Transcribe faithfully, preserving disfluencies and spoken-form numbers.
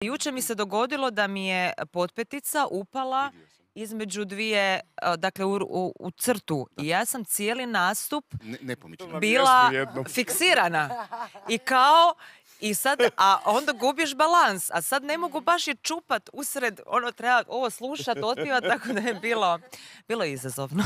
Jučer mi se dogodilo da mi je potpetica upala između dvije, dakle u, u, u crtu. I ja sam cijeli nastup Ne, nepomična. bila fiksirana. I kao, i sad, a onda gubiš balans, a sad ne mogu baš je čupat usred, ono treba ovo slušat, otpivat, tako da je bilo, bilo izazovno.